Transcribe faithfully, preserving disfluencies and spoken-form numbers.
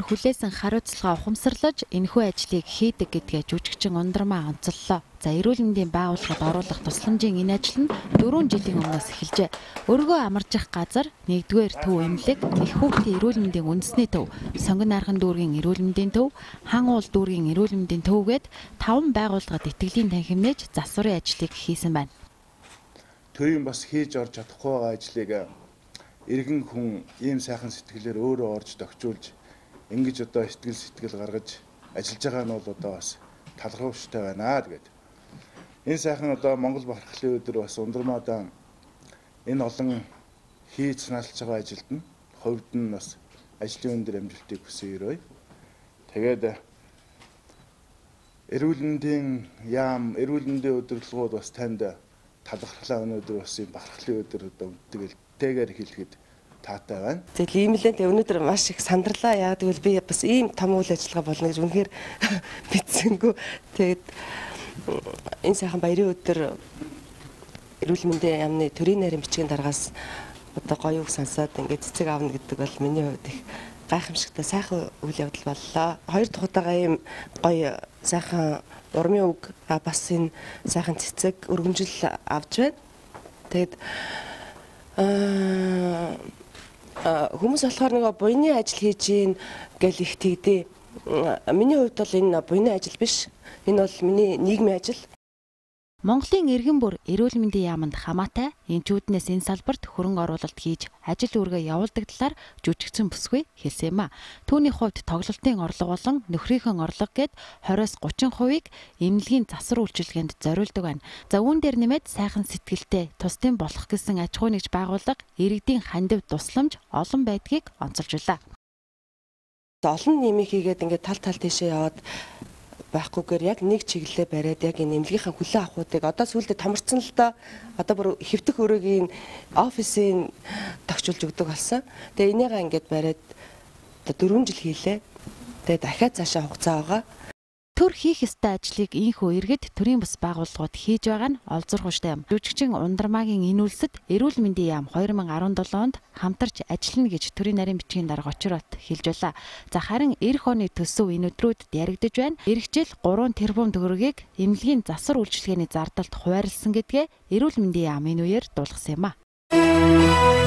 хүлээсэн хариуцлага ухамсарлаж энэхүү ажлыг хийдэг гэдгээ жүжигчин Ундрмаа онцоллоо. За эрүүл мэндийн байгууллагад оруулах тусламжийн энэ ажил нь дөрвөн жилийн өмнөөс эхэлжээ. Өргөө амаржих газар, нэгдүгээр төв эмнэлэг, их хүүхдийн эрүүл мэндийн үндэсний төв, сонгон нархан дүүргийн эрүүл мэндийн төв, хан уул дүүргийн эрүүл мэндийн төвгээд таван байгууллагад итгэлийн танхимнээж засварын ажлыг хийсэн байна. Төвийн бас хийж орж чадахгүй байгаа ажлыг иргэн хүн ийм сайхан сэтгэлээр өөрөө орж тохижуулж ингэж одоо сэтгэл сэтгэл гаргаж ажиллаж байгаа нь бол одоо бас талархууштай байна гэдэг. Энэ сайхан одоо Монгол бархлын өдөр бас Ундрмаадаа энэ олон хийж санаалж байгаа ажилд нь хувьд нь бас ажлын өндөр амжилтыг хүсье өрөөе. Тэгээд эрүүл мэндийн яам, эрүүл мэндийн удирдлагууд бас танд талархлаа өнөөдөр бас юм бархлын өдөр одоо тэгэл тэгээр хэлэхэд таатай байна. Тэгэл ийм л энэ өнөөдөр маш их сандарлаа. Яг тэгвэл би бас ийм том үйл ажиллагаа болно гэж үнэхээр мэдсэнгүй. Тэгээд энэ сайхан баярын өдөр эрүүл мэндийн яамны төрийн нарийн бичгийн дараагаас одоо гоё үг сонсоод ингээд цэцэг аавна гэдэг бол миний хувьд их гайхамшигтай сайхан үйл явдал боллоо. Хоёр дахь удаага ийм гоё сайхан урмын үг бас энэ сайхан цэцэг өргөмжил авч байна. Тэгээд аа хүмүүс болохоор нэг буйны ажил хийж гин гэл их тэгдээ. Миний хувьд бол энэ буйны ажил биш. Энэ бол миний нийгмийн ажил. Монголын иргэн бүр эрүүл мэндийн яамд хамаатай энчүүднээс энэ салбарт хөрөнгө оруулалт хийж ажил үүргээ явуулдаг талаар жүжигчин бүсгүй хэлсэн юм а. Түүний хувьд тоглолтын орлого болон нөхрийнхөө орлого гээд двадцоос гучин хувийг эмнэлгийн засвар үйлчилгээнд зориулдаг байна. За үүн дээр нэмээд сайхан сэтгэлтэй тусдын болох гэсэн аж ахуй нэгж байгууллага иргэдийн хандив тусламж олон байдгийг онцолжуулаа. Олон нэмийг хийгээд ингээд тал тал тийшээ яваад байхгүйгээр яг нэг чиглэлээ бариад яг энэ эмнэлгийнхаа хүлээн авахуудыг одоо сүүлдээ томорцсон л доо одоо бүр хэвтэх өрөөгийн офисын тогтчулж өгдөг болсон. Тэгээ энийгээ ингээд бариад одоо дөрвөн жил хийлээ. Тэгээ дахиад цаашаа хугацаа байгаа. Төр хийх ёстой ажлыг ийхүү иргэд төрийн бас байгууллагууд хийж байгаа нь олзуурхуштай юм. Жүжигчин Ундрмаагийн энэ үлсэд эрүүл мэндийн яам хоёр мың арван долоо онд хамтарч ажиллана гэж төрийн нарийн бичгийн дарга очроод хэлж байлаа. За харин эх оны төсөв энэ өдрүүдэд яригдж байна. Ирэх жил гурван тэрбум төгрөгийг эмнэлгийн засвар үйлчилгээний зардалд хуваарлсан гэдгээ эрүүл мэндийн яам энэ үеэр дуулгасан юм а.